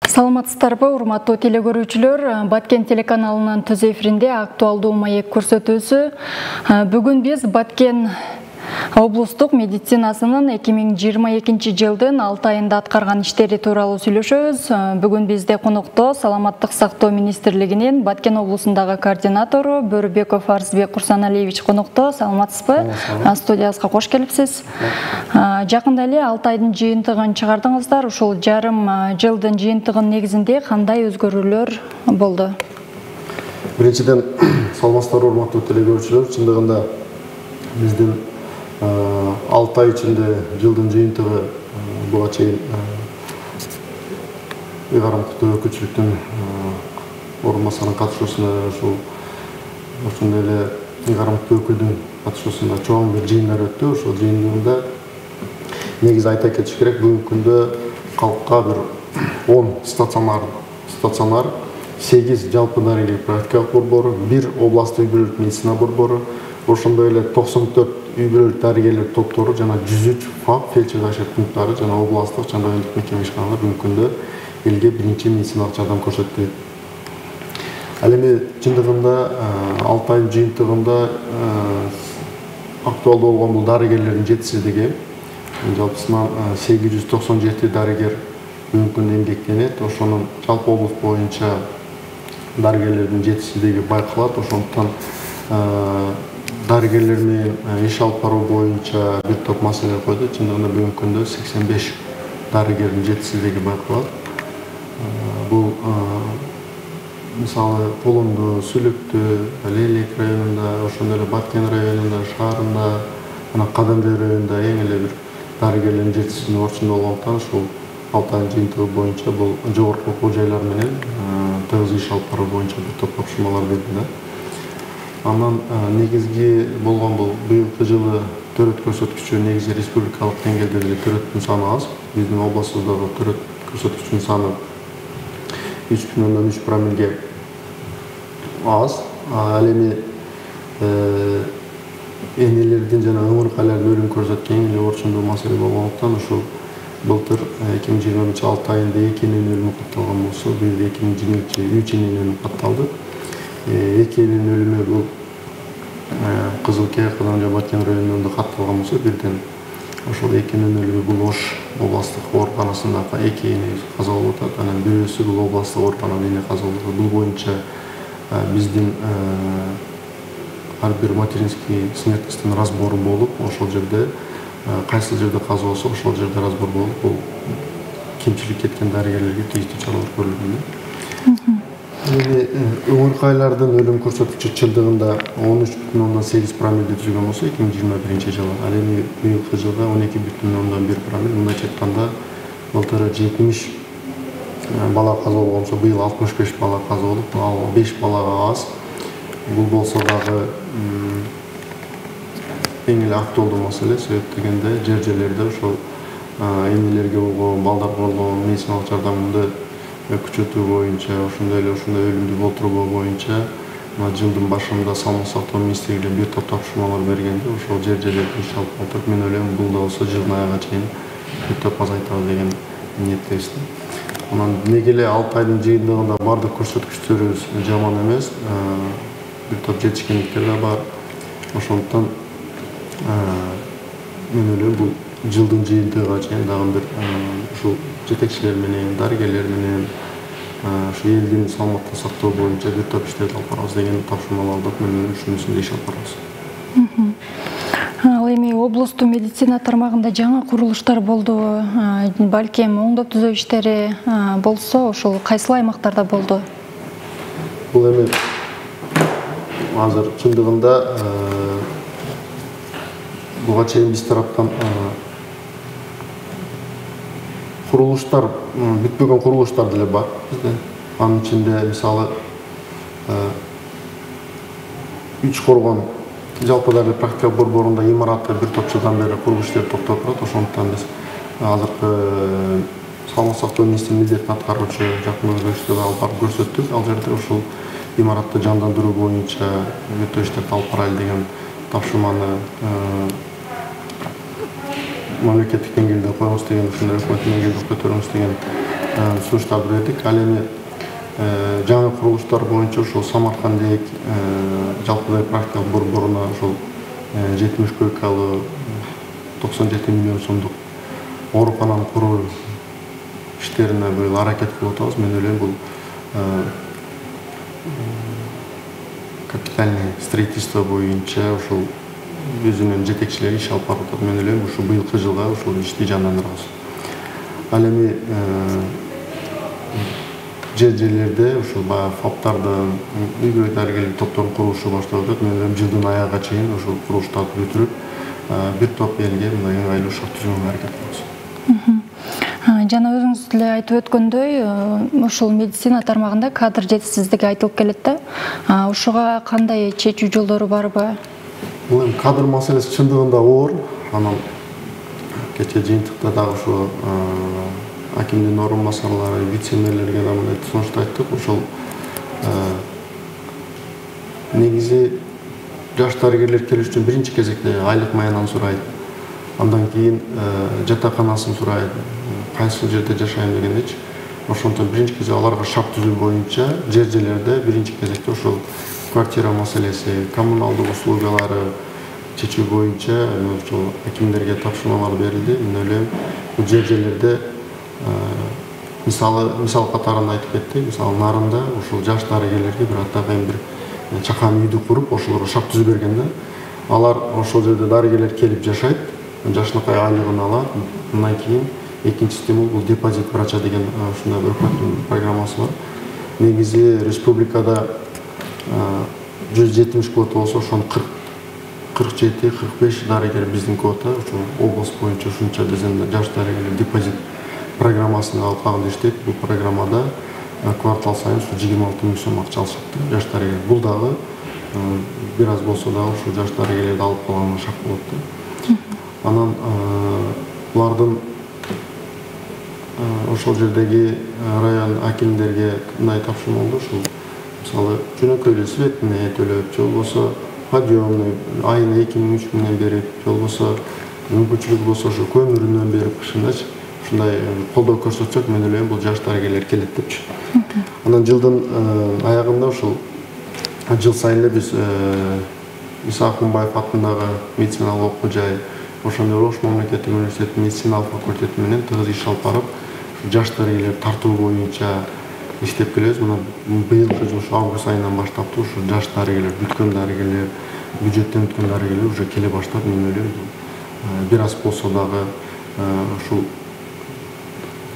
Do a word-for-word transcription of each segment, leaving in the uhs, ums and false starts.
Саламатсыздарбы, урматтуу телекөрүүчүлөр. Баткен телеканалынын түз эфиринде актуалдуу маек көрсөтүүсү. Бүгүн биз Баткен облустук медицинасынын эки миң жыйырма экинчи жылдын алты айында аткарган иштери тууралуу сүйлөшөбүз. Бүгүн бизде конокто Саламаттык сактоо министрлигинин Баткен облусундагы координатору Бөрүбеков Арзбек Курсаналиевич конокто. Саламатсызбы? Студиябызга кош келипсиз. Жакында эле алты айдын жыйынтыгын чыгардыңыздар. Ушул жарым жылдын жыйынтыгынын негизинде кандай өзгөрүүлөр болду? Биринчиден, саламатсыздарбы, урматтуу телекөрүүчүлөр. Чындыгында биздин алты ай ичинде жылдын жыйынтыгы буга чейин ыйгарымдуу өкүлчүлүктүн орун басарынын катышуусунда ушул ошондой эле ыйгарымдуу өкүлдүн катышуусунда чоң бир жыйындар өттү. Ошол жыйындыгында негизи айта кетиш керек, бүгүнкү күндө калкка бир он стационар стационар сегиз жалпы дарыгерлик практикалык борбору, бир областтык үй бүлөлүк медицина борбору, ошондой эле токсон төрт үй бүлөлүк дарыгерлер топтору жана жүз үч фак фельдшер ашер пункттары жана областтык жана райондук мекеме ишканалар бүгүнкү күндө элге биринчи медициналык жардам көрсөтүп. Ал эми чындыгында алты айдын жыйынтыгында актуалдуу болгон бул дарыгерлердин жетишсиздиги. Жалпысынан сегиз жүз токсон жети дарыгер бүгүнкү күндө эмгектенет. Ошонун жалпы облус боюнча дарыгерлердин жетишсиздиги байкалат. Ошондуктан дарыгерлер менен иш алып баруу боюнча бир топ маселе койду. Чындыгында бүгүнкү күндө сексен беш дарыгердин жетишсиздиги байкалат. Бул мисалы Колунду, Сүлүктү, Лелек районунда, ошондой эле Баткен районунда, шаарында, жана Кадамбек районунда эң эле бир дарыгерлердин жетишсиздиги орчундо болгондуктан ушул алты айдын жыйынтыгы боюнча бул жогорку окуу жайлар менен тыгыз иш алып баруу боюнча бир топ тапшырмалар берди да. Андан негизги болгон бул быйылкы жылы төрөт көрсөткүчү негизи республикалык деңгээлде деле төрөттүн саны аз. Биздин областыбыздагы төрөт көрсөткүчүнүн саны үч бүтүн ондон үч промиллге аз. Ал эми энелердин жана ыңыркайлардын өлүм көрсөткөн эң эле орчундуу маселе болгондуктан ушул былтыр эки миң жыйырма биринчи алты айында эки эненин өлүмү катталган болсо, быйыл эки миң жыйырма экинчи үч эненин өлүмү катталды. Эки эненин өлүмү бул Кызылкия, Кадамбек, Баткен районунда катталган болсо, бирден ошол эки эненин өлүмү бул Ош областтык ооруканасында эки эне каза болуп атат. Анан бирөөсү бул областтык ооруканада эне каза болуп атат. Бул боюнча биздин ар бир материнский смертностьтун разбору болуп, ошол жерде кайсы жерде каза болсо, ошол жерде разбор болуп, бул кемчилик кеткен дарыгерлерге тийиштүү чаралар көрүлгөн. Эми ыңыркайлардын өлүм көрсөткүчү чындыгында он үч бүтүн ондон сегиз промиллди түзгөн болсо эки миң жыйырма биринчи жылы, ал эми быйылкы жылда он эки бүтүн ондон бир промиль. Мындайча айтканда былтыр жетимиш бала каза болгон болсо, быйыл алтымыш беш бала каза болуп, ал беш балага аз. Бул болсо дагы эң эле актуалдуу маселе. Себеп дегенде жер жерлерде ошол энелерге болгон, балдарга болгон медициналык жардамды күчөтүү боюнча, ошондой эле ошондой өлүмдү болтурбоо боюнча жылдын башында Саламаттык сактоо министрлиги бир топ тапшырмалар бергенде, ошол жер жерлерде иш алып атат. Мен ойлойм, бул да болсо жылдын айына чейин бир топ азайтабыз деген ниеттебиз. Анан неге эле алты айдын жыйынтыгында бардык көрсөткүчтөрүбүз жаман эмес, бир топ жетишкендиктер да бар. Ошондуктан мен ойлойм, бул жылдын жыйынтыгына чейин дагы бир ушул жетекчилер менен, дарыгерлер менен ушу элдин саламаттык сактоо боюнча бир топ иштерди алып барабыз деген тапшырмалар алдык. Мен ушунун үстүндө иш алып барабыз. Ал эми облустук медицина тармагында жаңы курулуштар болду. Балким оңдоп түзөө иштери болсо, ошол кайсыл аймактарда болду? Бул эми азыр чындыгында буга чейин биз тараптан курулуштар, бүтпөгөн курулуштар деле бар бизде. Анын ичинде мисалы үч коргон жалпы дарылык практика борборунда имаратты бир топ жылдан бери куруу иштери токтоп турат. Ошондуктан биз азыркы саламаттык сактоо министринин милдетин аткаруучу жакын өзгөрүштөрдү алып барып көрсөттүк. Ал жерде ушул имаратты жандандыруу боюнча өтө иштерди алып барайлы деген тапшырманы мамлекеттик деңгээлде коебуз деген, ушундай өкмөттүк деңгээлде көтөрөбүз деген сунуштарды бердик. Ал эми жаңы курулуштар боюнча ушул Самаркандек жалпыдай практикалык борборуна ушул жетимиш койкалуу токсон жети миллион сомдук оорукананы куруу иштерине быйыл аракет кылып атабыз. Мен ойлойм бул капитальный строительство боюнча ушул өзүнүн жетекчилери иш алып барып атат. Мен ойлойм ушу быйылкы жылга ушул ишти жандандырабыз. Ал эми жер жерлерде ушул баягы фаптардын үй-бүлө дарыгерлик топторун курулушу башталып атат. Мен ойлойм жылдын аягына чейин ушул курулуштарды бүтүрүп бир топ элге мындай ыңгайлуу шарт түзүүгө аракет кылабыз. Жана өзүңүз деле айтып өткөндөй, ушул медицина тармагында кадр жетишсиздиги айтылып келет да. Ушуга кандай чечүү жолдору барбы? Бул эми кадр маселеси чындыгында оор. Анан кече жыйынтыкта дагы ушу акимдин орун басарлары, вице-мэрлерге да мындай сунушту айттык. Ошол негизи жаш дарыгерлер келиш үчүн биринчи кезекте айлык маянаны сурайт. Андан кийин жатаканасын сурайт, кайсы жерде жашайм дегендечи. Ошондон биринчи кезекте аларга шарт түзүү боюнча жер жерлерде биринчи кезекте ошол квартира маселеси, коммуналдык услугалары чечүү боюнча ошол акимдерге тапшырмалар берилди. Мен ойлойм, бул жер жерлерде мисалы мисал катарында айтып кеттик. Мисалы Нарында ушул жаш дарыгерлерге бир атайын бир чакан үйдү куруп, ошолорго шарт түзүп бергенде, алар ошол жерде дарыгерлер келип жашайт, жашынакай айлыгын алат. Андан кийин экинчи стимул бул депозит врача деген ушундай бир өкмөттүн программасы бар. Негизи республикада жүз жетимиш квота болсо, ошонун кырк жети кырк беш дарыгер биздин квота. Ошол область боюнча ушунча биздин жаш дарыгерлер депозит программасына алып иштейт. Бул программада квартал сайын жыйырма алты миң сом акча алышат жаш дарыгер. Бул дагы бир аз болсо дагы ушул жаш дарыгерлерди алып калганга шарт болот да. Анан булардын ошол жердеги район акимдерге мындай тапшырма болду. Ушул мисалы жөнөкөй эле светине төлөп, же болбосо подъемный айына эки миң үч миңден берип, же болбосо мүмкүнчүлүгү болсо ошо көмүрүнөн берип кышындачы ушундай колдоо көрсөтсөк, мен ойлойм бул жаш дарыгерлер келет депчи. Анан жылдын аягында ушул жыл сайын эле биз Иса Акунбаев атындагы медициналык окуу жай, ошондой эле Ош мамлекеттик университетинин медициналык факультети менен тыгыз иш алып барып, жаш дарыгерлер тартуу боюнча иштеп келебиз. Мына быйылкы жыл ушу август айынан баштап ушу жаш дарыгерлер, бүткөн дарыгерлер, бюджеттен өткөн дарыгерлер уже келе баштады. Мен ойлойм, бир аз болсо дагы ушул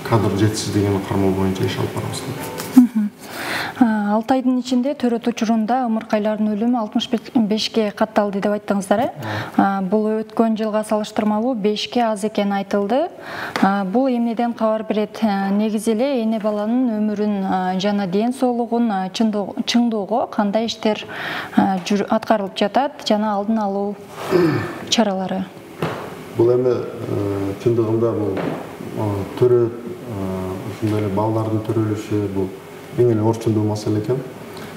кадр жетишсиздигин кармоо боюнча иш алып барабыз. алты айдын ичинде төрөт учурунда ымыркайлардын өлүмү алтымыш бешке катталды деп айттыңыздар, э? Бул өткөн жылга салыштырмалуу бешке аз экени айтылды. Бул эмнеден кабар берет? Негизи эле эне баланын өмүрүн жана ден соолугун чыңдоого кандай иштер аткарылып жатат жана алдын алуу чаралары? Бул эми чындыгында бул төрөт ушундай эле балдардын төрөлүшү бул эң эле орчундуу маселе экен.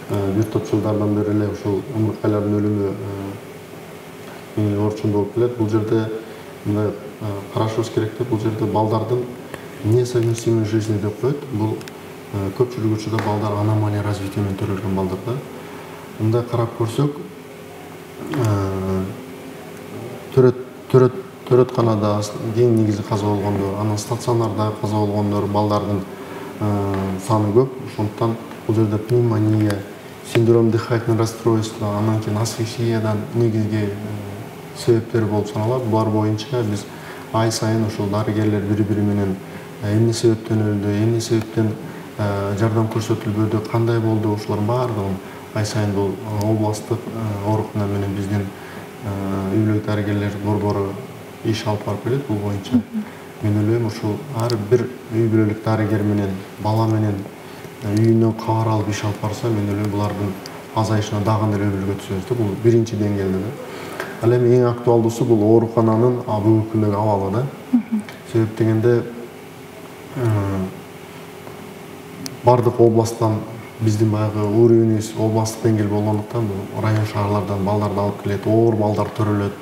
Бир топ жылдардан бери эле ушул ымыркайлардын өлүмү эң эле орчундуу болуп келет. Бул жерде мындай карашыбыз керек да, бул жерде балдардын несовместимой жизни деп коет. Бул көпчүлүк учурда балдар аномалия развития менен төрөлгөн балдар да. Мындай карап көрсөк, төрөт төрөт төрөтканада кең негизи каза болгондор, анан стационарда каза болгондор балдардын саны көп. Ошондуктан бул жерде пневмония, синдром дыхательного расстройства, анан кийин асфиксиядан негизги себептер болуп саналат. Булар боюнча биз ай сайын ошол дарыгерлер бири-бири менен эмне себептен өлдү, эмне себептен жардам көрсөтүлбөдү, кандай болду, ошолордун баардыгын ай сайын бул областтык оорукана менен биздин үй-бүлө дарыгерлер борбору иш алып барып келет бул боюнча. Мен ойлойм, ушул ар бир үй-бүлөлүк дарыгер менен бала менен үйүнөн кабар алып иш алып барса, мен ойлойм булардын азайышына дагы эле өбүлгө түшөбүз да. Бул биринчи деңгээлде да. Ал эми эң актуалдуусу бул оорукананын бүгүнкү күндөгү абалы да. Себеп дегенде бардык областтан биздин баягы уровенибиз областтык деңгээл болгондуктан бул район шаарлардан балдарды алып келет, оор балдар төрөлөт.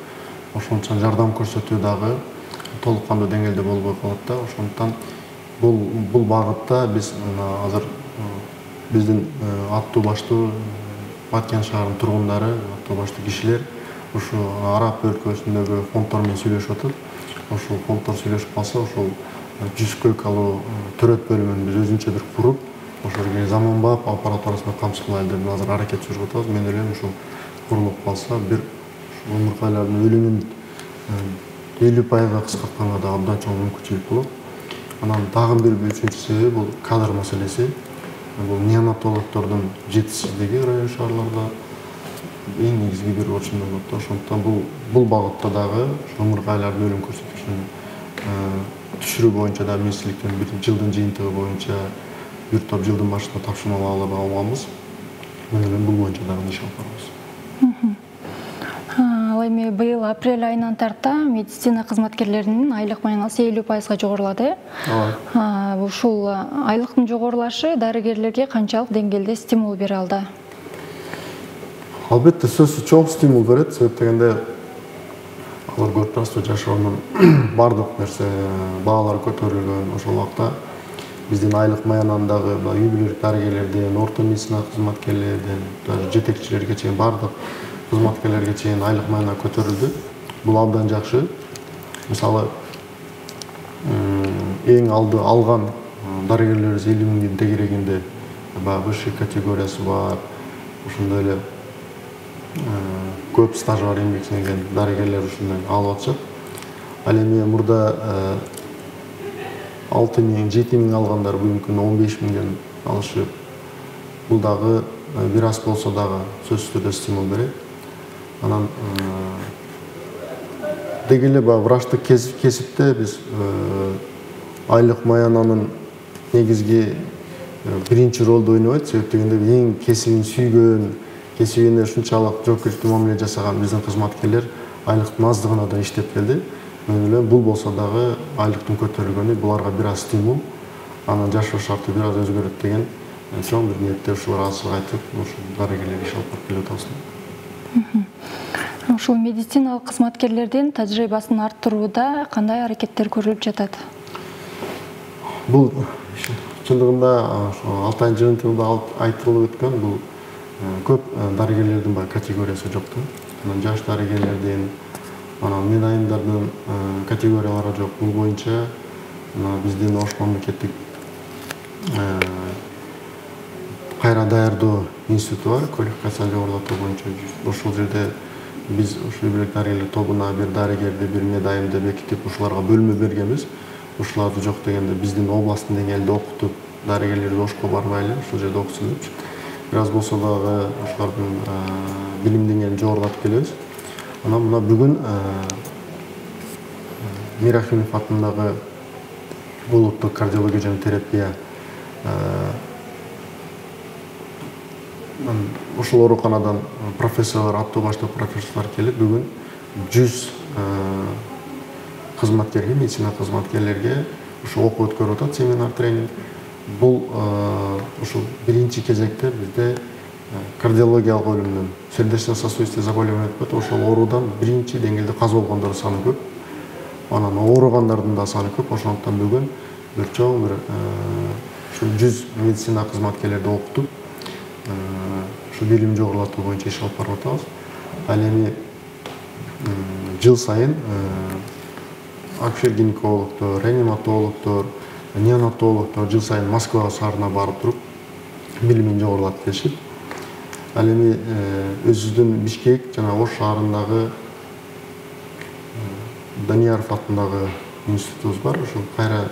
Ошондуктан жардам көрсөтүү дагы толук кандуу деңгээлде болбой калат да. Ошондуктан бул бул багытта биз азыр биздин аттуу баштуу Баткен шаарынын тургундары, аттуу баштуу кишилер ушу Арап өлкөсүндөгү фонддор менен сүйлөшүп атат. Ошол фонддор сүйлөшүп калса, ошол жүз көйкалуу төрөт бөлүмүн биз өзүнчө бир куруп, ошол жерге заманбап аппаратурасына камсыздайлы деп азыр аракет жүргүзүп атабыз. Мен ойлойм, ушул курулуп калса, бир омурткалардын өлүмүн элүү пайызга кыскартканга да абдан чоң мүмкүнчүлүк болот. Анан дагы бир үчүнчү себеби бул кадр маселеси. Бул неонатологдордун жетишсиздиги район шаарларда эң негизги бир орчундо болот. Ошондуктан бул бул багытта дагы омурткалардын өлүм көрсөткүчүн түшүрүү боюнча да министрликтен бир жылдын жыйынтыгы боюнча бир топ жылдын башында тапшырма алып алганбыз. Мен ойлойм бул боюнча дагы иш алып барабыз. Ал эми быйыл апрель айынан тарта медицина кызматкерлеринин айлык маянасы элүү пайызга жогорулады. Ооба. Ушул айлыктын жогорулашы дарыгерлерге канчалык деңгээлде стимул бере алды? Албетте сөзсүз чоң стимул берет. Себеп дегенде алар көрүп турасызбы, жашоонун бардык нерсе баалары көтөрүлгөн. Ошол убакта биздин айлык маянанын дагы үй бүлөлүк дарыгерлерден, орто медицина кызматкерлерден, даже жетекчилерге чейин бардык кызматкерлерге чейин айлык маяна көтөрүлдү. Бул абдан жакшы. Мисалы, эң алды алган дарыгерлерибиз элүү миңдин тегерегинде баягы высший категориясы бар. Ошондой эле көп стажы бар эмгек сиңирген дарыгерлер ушундай алып атышат. Ал эми мурда алты миң, жети миң алгандар бүгүнкү күндө он беш миңден алышып, бул дагы бир аз болсо дагы сөзсүз түрдө стимул берет. Анан деги эле баягы врачтык кесипте биз айлык маянанын негизги биринчи ролду ойнобойт. Себеп дегенде эң кесибин сүйгөн, кесибине ушунчалык жоопкерчиликтүү мамиле жасаган биздин кызматкерлер айлыктын аздыгына да иштеп келди. Мен ойлойм, бул болсо дагы айлыктын көтөрүлгөнү буларга бир аз стимул, анан жашоо шарты бир аз өзгөрөт деген чоң бир ниетте ушулар азыр айтып, ушул дарыгерлерге иш алып барып келип атабыз. Ушул медициналык кызматкерлердин тажрыйбасын арттырууда кандай аракеттер көрүлүп жатат? Бул чындыгында алты айдын жыйынтыгында айтылып өткөн, бул көп дарыгерлердин баягы категориясы жок да. Анан жаш дарыгерлердин, анан медайымдардын категориялары жок. Бул боюнча биздин Ош мамлекеттик кайра даярдоо институту бар, квалификация жогорулатуу боюнча. Ошол жерде биз ушул үй бүлөк дарыгерлер тобуна бир дарыгерди, бир медайымды бекитип, ушуларга бөлмө бергенбиз. Ушуларды жок дегенде биздин областтын деңгээлде окутуп, дарыгерлерди Ошко барбайлы, ушул жерде окутсун депчи. Бир аз болсо дагы ошолордун билим деңгээлин жогорулатып келебиз. Анан мына бүгүн Мирахимов атындагы улуттук кардиология жана терапия ушул ооруканадан профессорлор, аттуу баштуу профессорлор келип, бүгүн жүз кызматкерге, медицина кызматкерлерге ушу окуу өткөрүп атат, семинар тренинг. Бул ушул биринчи кезекте бизде кардиологиялык өлүмдөн, сердечно-сосудистый заболевание деп коет, ошол оорудан биринчи деңгээлде каза болгондор саны көп. Анан ооругандардын да саны көп. Ошондуктан бүгүн бир чоң бир ушул жүз медицина кызматкерлерди окутуп, ушу билим жогорулатуу боюнча иш алып барып атабыз. Ал эми жыл сайын акушер-гинекологдор, реаниматологдор, неонатологдор жыл сайын Москва шаарына барып туруп билимин жогорулатып келишет. Ал эми өзүбүздүн Бишкек жана Ош шаарындагы Данияров атындагы институтубуз бар, ушул кайра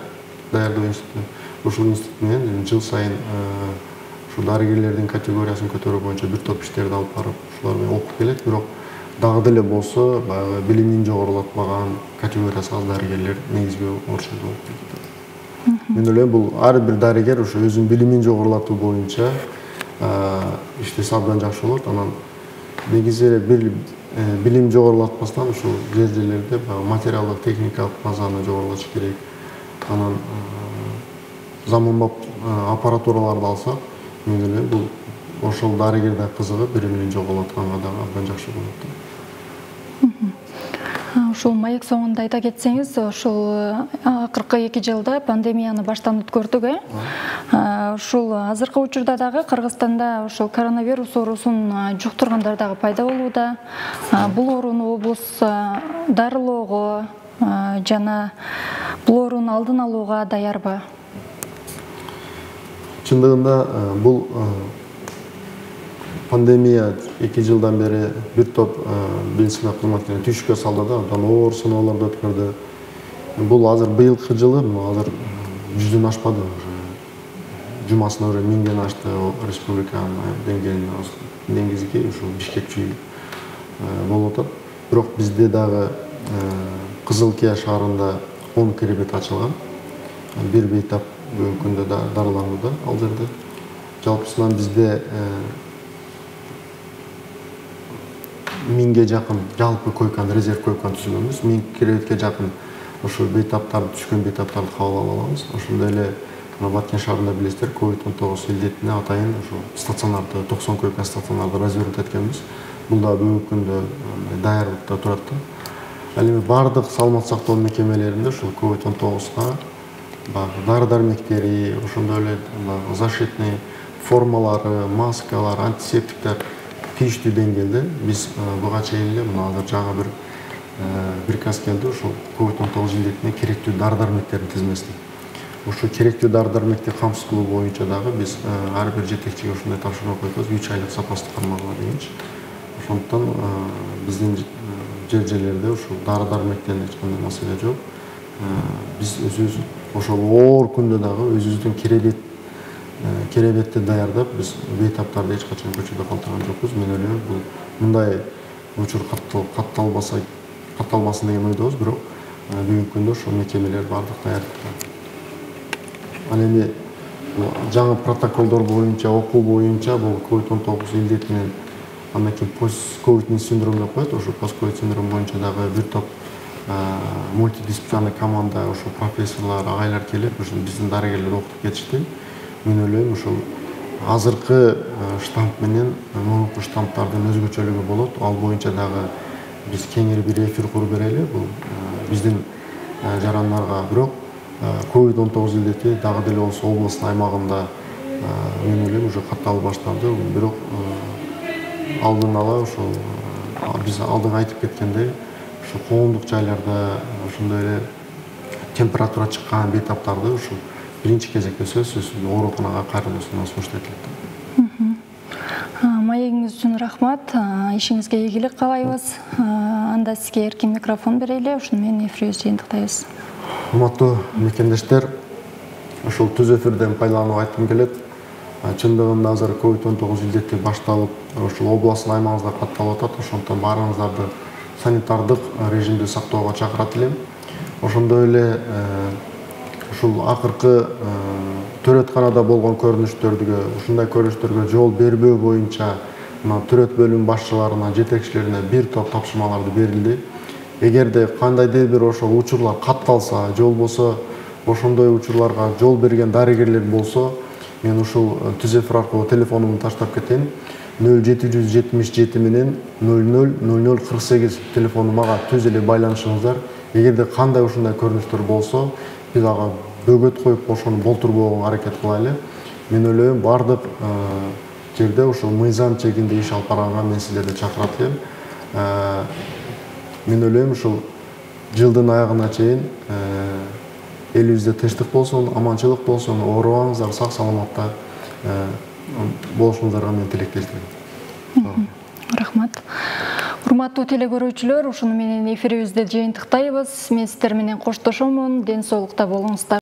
даярдоо институту. Ушул институт менен жыл сайын ушул дарыгерлердин категориясын көтөрүү боюнча бир топ иштерди алып барып, ушулар менен окуп келет. Бирок дагы деле болсо, баягы билимин жогорулатпаган категориясы аз дарыгерлер негизги орчундо болуп кетет. Мен ойлойм, бул ар бир дарыгер ушу өзүнүн билимин жогорулатуу боюнча иштесе абдан жакшы болот. Анан негизи эле билим жогорулатпастан ушул жер жерлерде материалдык, техникалык базаны жогорулатыш керек. Анан заманбап аппаратураларды алсак, мен ойлойм бул ошол дарыгер да кызыгып бири менен жоголуп атканга дагы абдан жакшы болот. Ушул маек соңунда айта кетсеңиз, ушул акыркы эки жылда пандемияны баштан өткөрдүк, э? Ушул азыркы учурда дагы Кыргызстанда ушул коронавирус оорусун жуктургандар дагы пайда болууда. Бул ооруну облус дарылоого жана бул оорунун алдын алууга даярбы? Чындыгында бул пандемия эки жылдан бери бир топ медицина кызматкерлерин түйшүккө салды да, абдан оор сыноолорду өткөрдү. Бул азыр быйылкы жылы азыр жүздөн ашпады. Жумасына уже миңден ашты республиканын деңгээлинде, негизги ушул Бишкекчи болуп атат. Бирок бизде дагы Кызылкия шаарында он керебет ачылган. Бир бейтап бүгүнкү күндө дарыланууда ал жерде. Жалпысынан бизде миңге жакын жалпы койканы, резерв койканы түзгөнбүз. Миң керебетке жакын ошол бейтаптарды, түшкөн бейтаптарды кабыл ала алабыз. Ошондой эле Баткен шаарында билесиздер, ковид он тогуз илдетине атайын ошол стационарды, токсон койка стационарды развернут эткенбиз. Бул да бүгүнкү күндө даярдыкта турат да. Ал эми бардык саламат сактоо мекемелеринде ушул ковид он тогузга баягы дары-дармектери, ошондой эле защитный формалары, маскалар, антисептиктер тийиштүү деңгээлде биз буга чейин эле мына азыр жаңы бир приказ келди, ошол ковид он тогуз илдетине керектүү дары-дармектердин тизмесин. Ошол керектүү дары-дармекти камсыз кылуу боюнча дагы биз ар бир жетекчиге ушундай тапшырма койдук, үч айлык запастык кармагыла дегенчи. Ошондуктан биздин жер жерлерде ушул дары-дармектен эч кандай маселе жок. Биз өзүбүз ошол оор күндө дагы өзүбүздүн керебет керебетти даярдап, биз бейтаптарды эч качан көчөдө калтырган жокпуз. Мен ойлойм, бул мындай учур катталбаса, катталбасын деген ойдобуз, бирок бүгүнкү күндө ошол мекемелер бардык даярдыкта. Ал эми жаңы протоколдор боюнча, окуу боюнча бул ковид он тогуз илдетинен андан кийин постковидный синдром деп коет. Ошол постковид синдром боюнча дагы бир топ мультидисциплинарный команда, ошол профессорлор, агайлар келип, ошол биздин дарыгерлер окутуп кетишти. Мен ойлойм, ушул азыркы штамп менен мурунку штамптардын өзгөчөлүгү болот. Ал боюнча дагы биз кеңири бир эфир куруп берели. Бул биздин жарандарга, бирок ковид он тогуз илдети дагы деле болсо областын аймагында мен ойлойм уже катталып башталды. Бирок алдын ала ошол биз алдыга айтып кеткендей, ошо коомдук жайларда ошондой эле температура чыккан бейтаптарды ушул биринчи кезекте сөзсүз ооруканага кайрылуусуна сунуш этилет. Маегиңиз үчүн рахмат. Ишиңизге ийгилик каалайбыз. Анда сизге эркин микрофон берели, ошону менен эфирибизди жыйынтыктайбыз. Урматтуу мекендештер, ушул түз эфирден пайдаланып айткым келет. Чындыгында азыр ковид он тогуз илдети башталып, ошол областтын аймагыбызда катталып атат. Ошондуктан баарыңыздарды санитардык режимди сактоого чакырат элем. Ошондой эле ушул акыркы төрөтканада болгон көрүнүштөргө, ушундай көрүнүштөргө жол бербөө боюнча мына төрөт бөлүм башчыларына, жетекчилерине бир топ тапшырмаларды берилди. Эгерде кандайдыр бир ошол учурлар катталса, же болбосо ошондой учурларга жол берген дарыгерлер болсо, мен ушул түз эфир аркылуу телефонумду таштап кетейин. нөл жети жүз жетимиш жети менен нөл нөл нөл нөл кырк сегиз телефону мага түз эле байланышыңыздар. Эгерде кандай ушундай көрүнүштөр болсо, биз ага бөгөт коюп ошону болтурбоого аракет кылайлы. Мен ойлойм, бардык жерде ушул мыйзам чегинде иш алып барганга мен силерди чакырат элем. Мен ойлойм, ушул жылдын аягына чейин элибизде тынчтык болсун, аманчылык болсун, оорубаңыздар, сак саламатта болушуңуздарга мен тилектештирем. Рахмат. Урматтуу телекөрүүчүлөр, ушуну менен эфирибизди жыйынтыктайбыз. Мен сиздер менен коштошомун. Ден соолукта болуңуздар.